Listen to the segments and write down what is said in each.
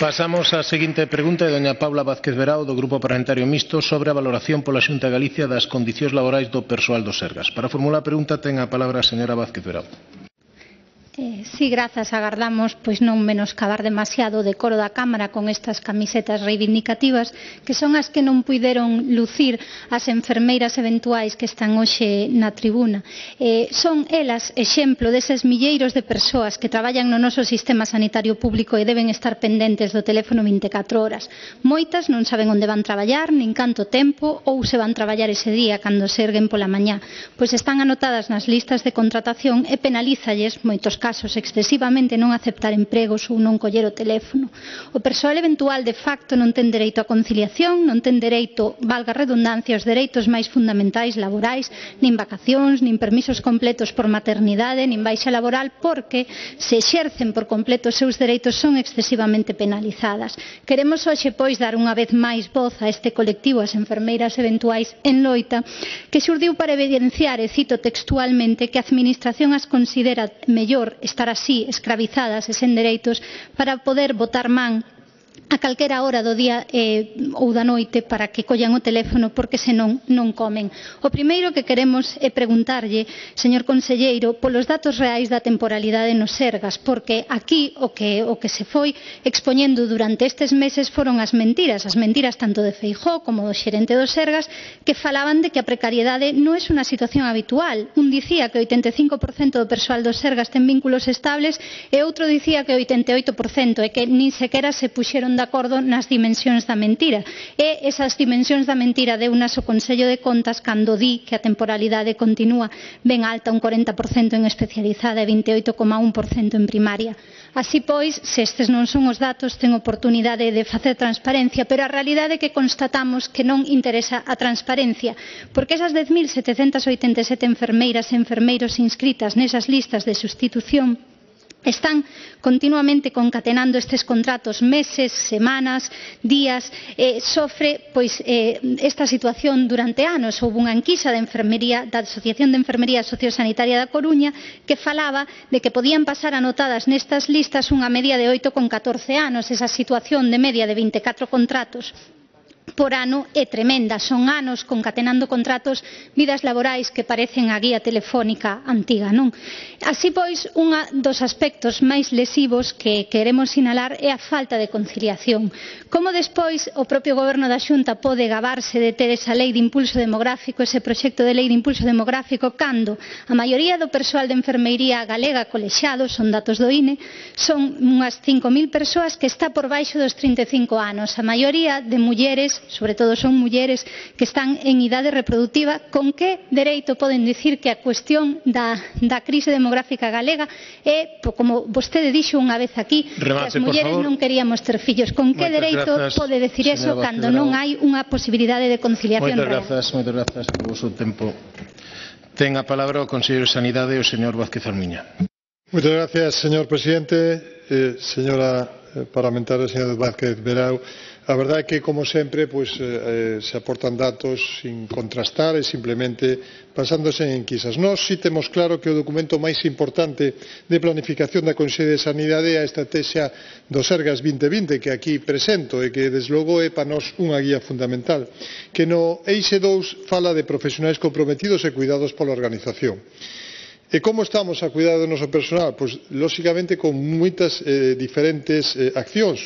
Pasamos á seguinte pregunta de doña Paula Vázquez Verao do Grupo Parlamentario Mixto sobre a valoración pola Xunta de Galicia das condicións laborais do persoal do Sergas. Para formular a pregunta ten a palabra a señora Vázquez Verao. Sí, grazas. Agardamos non menoscabar demasiado o decoro da Cámara con estas camisetas reivindicativas que son as que non puideron lucir as enfermeiras eventuais que están hoxe na tribuna. Son elas exemplo deses milleiros de persoas que traballan no noso sistema sanitario público e deben estar pendentes do teléfono 24 horas. Moitas non saben onde van traballar, nin canto tempo ou se van traballar ese día cando se erguen pola mañá, pois están anotadas nas listas de contratación e penalízalles moitos casos excesivamente non aceptar empregos ou non coller o teléfono. O persoal eventual de facto non ten dereito a conciliación, non ten dereito, valga a redundancia, aos dereitos máis fundamentais laborais, nin vacacións, nin permisos completos por maternidade, nin baixa laboral, porque se exercen por completo os seus dereitos son excesivamente penalizadas. Queremos hoxe, pois, dar unha vez máis voz a este colectivo, as enfermeiras eventuais en loita, que xurdiu para evidenciar, e cito textualmente, que a Administración as considera mellor estar así, escravizadas e sen dereitos, para poder botar man a calquera hora do día ou da noite para que collan o teléfono porque senón non comen. O primeiro que queremos é preguntarlle, señor conselleiro, polos datos reais da temporalidade nos Sergas, porque aquí o que se foi expoñendo durante estes meses foron as mentiras tanto de Feijóo como do xerente do Sergas, que falaban de que a precariedade non é unha situación habitual. Un dicía que o 85% do persoal do Sergas ten vínculos estables e outro dicía que o 88% e que nin sequera se puxeron de acordo nas dimensións da mentira. E esas dimensións da mentira deunas o Consello de Contas cando di que a temporalidade continúa ben alta, un 40% en especializada e 28,1% en primaria. Así pois, se estes non son os datos, ten oportunidade de facer transparencia, pero a realidade é que constatamos que non interesa a transparencia, porque esas 10.787 enfermeiras e enfermeiros inscritas nesas listas de sustitución están continuamente concatenando estes contratos meses, semanas, días, sofre esta situación durante anos. Houve unha enquisa da Asociación de Enfermería Sociosanitaria da Coruña que falaba de que podían pasar anotadas nestas listas unha media de 8,14 anos. Esa situación de media de 24 contratos por ano é tremenda, son anos concatenando contratos, vidas laborais que parecen a guía telefónica antiga, non? Así pois, un dos aspectos máis lesivos que queremos sinalar é a falta de conciliación. Como despois o propio Goberno da Xunta pode gabarse de ter esa lei de impulso demográfico, ese proxecto de lei de impulso demográfico, cando a maioría do persoal de enfermeiría galega colexiado, son datos do INE, son unhas 5.000 persoas que está por baixo dos 35 anos, a maioría de mulleres, sobre todo son mulleres que están en idade reproductiva. Con que dereito poden dicir que a cuestión da crise demográfica galega é, como vostede dixo unha vez aquí, que as mulleres non queríamos ter fillos? Con que dereito pode dicir eso cando non hai unha posibilidade de conciliación real? Moitas grazas polo seu tempo. Ten a palabra o conselleiro de Sanidade, o señor Vázquez Almiña. Muchas gracias, señor presidente. Señora parlamentaria, señora Vázquez Verao, a verdade é que, como sempre, se aportan datos sin contrastar e simplemente basándose en enquisas. Nós si temos claro que o documento máis importante de planificación da Consellería de Sanidade é a estrategia do Sergas 2020, que aquí presento e que, desde logo, é para nós unha guía fundamental, que no eixe 2 fala de profesionais comprometidos e cuidados pola organización. E como estamos a cuidar do noso personal? Pois, lóxicamente, con moitas diferentes accións.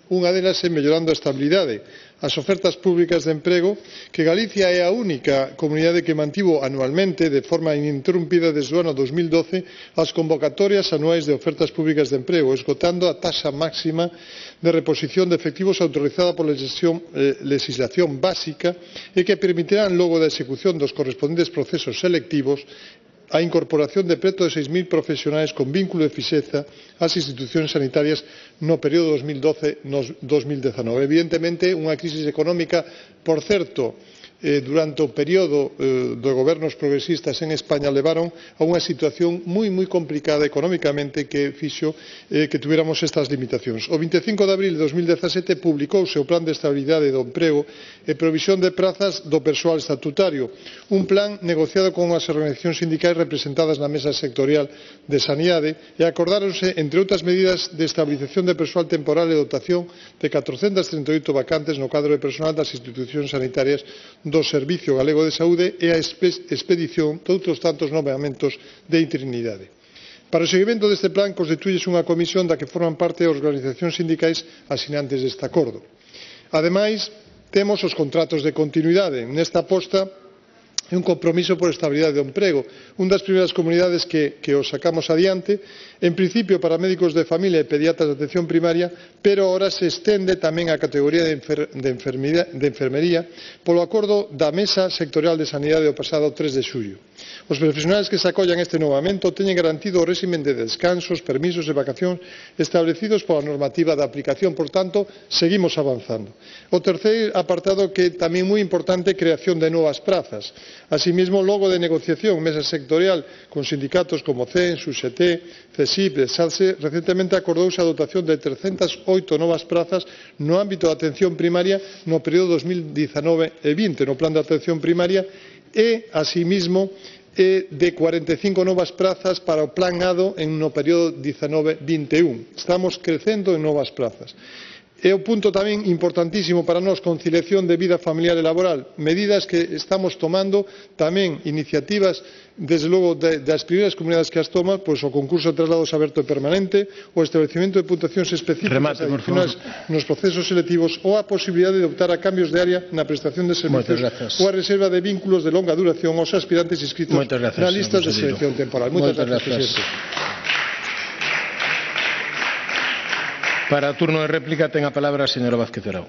Unha delas é mellorando a estabilidade, as ofertas públicas de emprego, que Galicia é a única comunidade que mantivo anualmente, de forma ininterrumpida desde o ano 2012, as convocatorias anuais de ofertas públicas de emprego, esgotando a taxa máxima de reposición de efectivos autorizada pola legislación básica e que permitirán, logo da execución dos correspondentes procesos selectivos, a incorporación de preto de 6.000 profesionais con vínculo de fixeza ás institucións sanitarias no período 2012-2019. Evidentemente, unha crisis económica, por certo, durante o período de gobernos progresistas en España levaron a unha situación moi complicada economicamente que fixo que tuviéramos estas limitacións. O 25 de abril de 2017 publicouse o Plan de Estabilidade do Emprego e Provisión de Prazas do Persoal Estatutario, un plan negociado con as organizacións sindicais representadas na Mesa Sectorial de Sanidade e acordáronse, entre outras medidas, de estabilización de persoal temporal e dotación de 438 vacantes no cadro de personal das institucións sanitarias do Servicio Galego de Saúde e a expedición de outros tantos nomeamentos de interinidade. Para o seguimento deste plan constitúyese unha comisión da que forman parte as organizacións sindicais asinantes deste acordo. Ademais, temos os contratos de continuidade. Nesta aposta é un compromiso por estabilidade do emprego, unha das primeiras comunidades que o sacamos adiante, en principio para médicos de familia e pediatras de atención primaria, pero agora se estende tamén á categoría de enfermería polo acordo da Mesa Sectorial de Sanidade do pasado 3 de xullo. Os profesionais que se acollan a este novamento teñen garantido o réximen de descansos, permisos e vacacións establecidos pola normativa de aplicación, por tanto, seguimos avanzando. O terceiro apartado que tamén moi importante, creación de novas prazas. Asimismo, logo de negociación mesa sectorial con sindicatos como CEN, SUSET, CESIP e SALSE, recentemente acordouse a dotación de 308 novas prazas no ámbito da atención primaria no período 2019 e 20 no plan de atención primaria e, asimismo, de 45 novas prazas para o plan ADO no período 19-21. Estamos crecendo en novas prazas. É un punto tamén importantísimo para nós, conciliación de vida familiar e laboral, medidas que estamos tomando, tamén iniciativas, desde logo, das primeiras comunidades que as toman, pois o concurso de traslados aberto e permanente, o establecemento de puntuacións específicas adicionais nos procesos selectivos ou a posibilidade de optar a cambios de área na prestación de servicios ou a reserva de vínculos de longa duración aos aspirantes inscritos na lista de selección temporal. Moitas gracias, presidente. Para o turno de réplica ten a palabra a señora Vázquez Verao.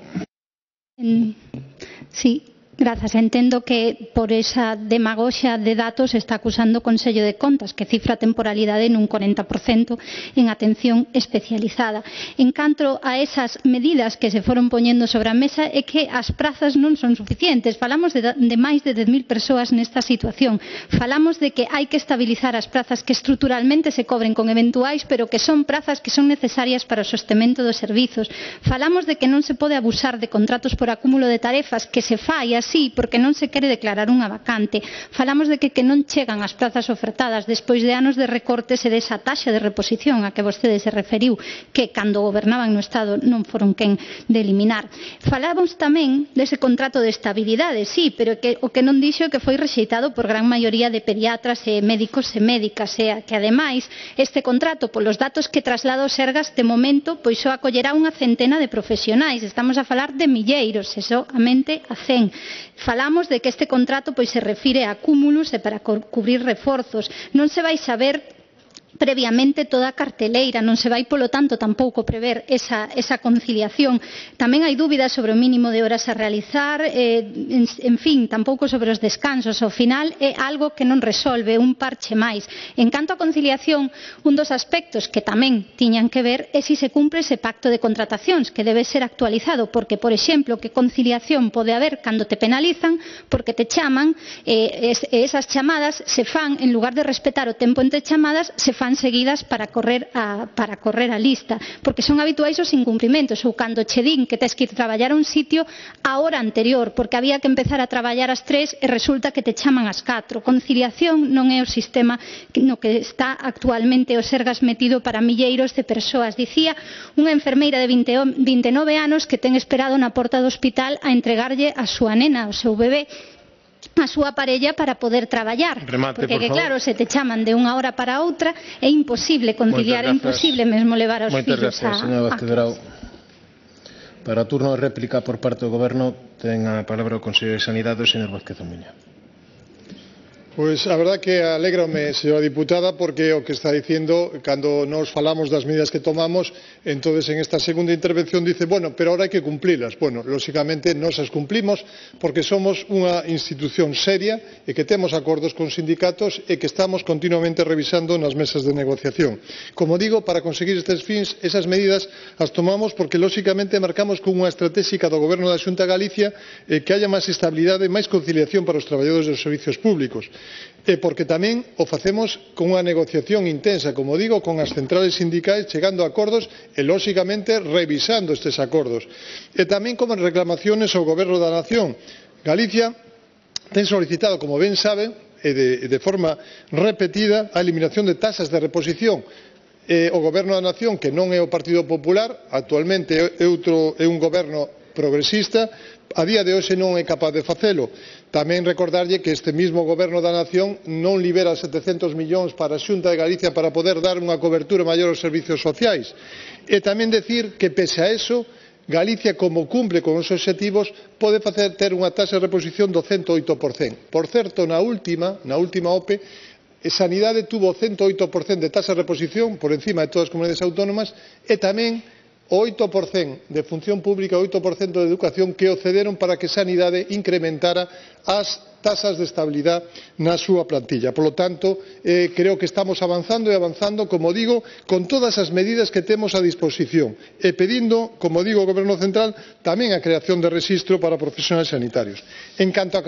Sí. Grazas. Entendo que por esa demagoxia de datos está acusando o Consello de Contas, que cifra a temporalidade nun 40% en atención especializada. En canto a esas medidas que se foron poñendo sobre a mesa, é que as prazas non son suficientes. Falamos de máis de 10.000 persoas nesta situación. Falamos de que hai que estabilizar as prazas que estruturalmente se cobren con eventuais, pero que son prazas que son necesarias para o sostemento dos servizos. Falamos de que non se pode abusar de contratos por acúmulo de tarefas, que se fai así porque non se quere declarar unha vacante. Falamos de que non chegan as prazas ofertadas despois de anos de recortes e desa taxa de reposición a que vostede se referiu, que cando gobernaban no Estado non foron quen de eliminar. Falamos tamén dese contrato de estabilidade, sí, pero o que non dixo que foi rexeitado por gran maioría de pediatras e médicos e médicas, e que ademais este contrato, polos datos que traslada o Sergas, de momento pois só acollerá unha centena de profesionais. Estamos a falar de milleiros, e soamente a 100. Falamos de que este contrato pois se refire a acúmulos e para cubrir reforzos. Non se vai saber previamente toda a carteleira, non se vai, polo tanto, tampouco prever esa conciliación. Tamén hai dúbidas sobre o mínimo de horas a realizar, en fin, tampouco sobre os descansos. Ao final é algo que non resolve, un parche máis. En canto a conciliación, un dos aspectos que tamén tiñan que ver é se se cumpre ese pacto de contratacións, que debe ser actualizado, porque, por exemplo, que conciliación pode haber cando te penalizan porque te chaman, e esas chamadas se fan, en lugar de respetar o tempo entre chamadas, se fan seguidas para correr a lista, porque son habituais os incumprimentos, ou cando che din que tes que ir traballar a un sitio a hora anterior, porque había que empezar a traballar ás 3 e resulta que te chaman ás 4. Conciliación non é o sistema no que está actualmente o Sergas metido para milleiros de persoas. Dicía unha enfermeira de 29 anos que ten esperado na porta do hospital a entregarlle a súa nena, o seu bebé, a súa parella para poder traballar. Remate, porque, claro, se te chaman de unha hora para outra, é imposible conciliar, é imposible mesmo levar aos fillos a clase. Para o turno de réplica por parte do Goberno ten a palabra o Conselleiro de Sanidade, o señor Vázquez Omiña. Pois a verdad que alégrame, señora diputada, porque o que está dicindo, cando nos falamos das medidas que tomamos, entonces en esta segunda intervención dice, bueno, pero ahora hai que cumplilas. Bueno, lóxicamente nos as cumplimos porque somos unha institución seria e que temos acordos con sindicatos e que estamos continuamente revisando nas mesas de negociación. Como digo, para conseguir estes fins, esas medidas as tomamos porque lóxicamente marcamos con unha estratégica do Goberno da Xunta de Galicia que haya máis estabilidade e máis conciliación para os traballadores dos servicios públicos. E porque tamén o facemos con unha negociación intensa, como digo, con as centrales sindicais, chegando a acordos e, lóxicamente, revisando estes acordos. E tamén como reclamaciones ao Goberno da Nación. Galicia ten solicitado, como ben sabe, e de forma repetida, a eliminación de tasas de reposición. O Goberno da Nación, que non é o Partido Popular, actualmente é un goberno progresista, a día de hoxe non é capaz de facelo. Tamén recordarlle que este mismo Goberno da Nación non libera 700 millóns para a Xunta de Galicia para poder dar unha cobertura maior aos servicios sociais. E tamén decir que, pese a eso, Galicia, como cumple con os obxectivos, pode ter unha taxa de reposición do 108%. Por certo, na última OPE, Sanidade tuvo 108% de taxa de reposición por encima de todas as comunidades autónomas e tamén o 8% de función pública, o 8% de educación que o cederon para que Sanidade incrementara as tasas de estabilidade na súa plantilla. Por lo tanto, creo que estamos avanzando e avanzando, como digo, con todas as medidas que temos a disposición e pedindo, como digo, ao Goberno Central tamén a creación de rexistro para profesionais sanitarios. En canto á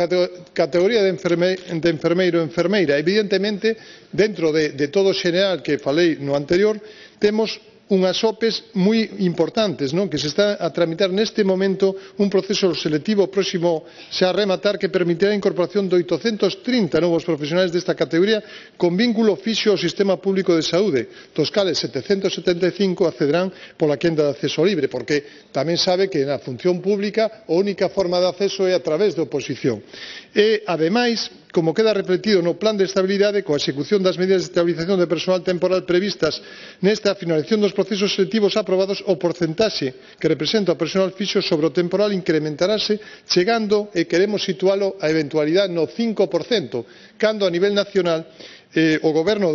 categoría de enfermeiro e enfermeira, evidentemente, dentro de todo o xeral que falei no anterior, temos unhas OPEs moi importantes, que se está a tramitar neste momento un proceso selectivo próximo xa a rematar que permitirá a incorporación de 830 novos profesionais desta categoría con vínculo fixo ao sistema público de saúde, dos cales 775 accederán pola quenda de acceso libre, porque tamén sabe que na función pública a única forma de acceso é a través de oposición. E, ademais, como queda reflectido no plan de estabilidade, coa execución das medidas de estabilización de persoal temporal previstas nesta finalización dos procesos selectivos aprobados, o porcentaxe que representa o persoal fixo sobre o temporal incrementarase, chegando, e queremos situalo, a eventualidade no 5%, cando a nivel nacional o goberno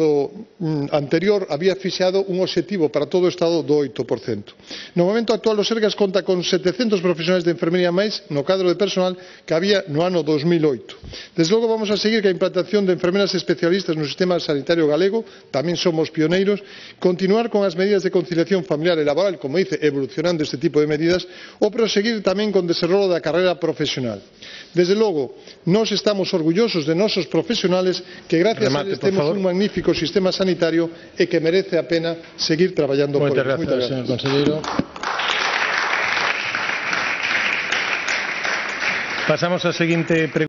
anterior había fixado un obxectivo para todo o Estado do 8%. No momento actual, o Sergas conta con 700 profesionais de enfermería máis no cadro de personal que había no ano 2008. Desde logo vamos a seguir que a implantación de enfermeras especialistas no sistema sanitario galego, tamén somos pioneiros, continuar con as medidas de conciliación familiar e laboral, como dice, evolucionando este tipo de medidas, ou proseguir tamén con o desenrolo da carreira profesional. Desde logo, nós estamos orgullosos de nosos profesionales que gracias a eles temos un magnífico sistema sanitario e que merece a pena seguir traballando por ele. Moitas grazas, señor conselleiro. Pasamos á seguinte pregunta.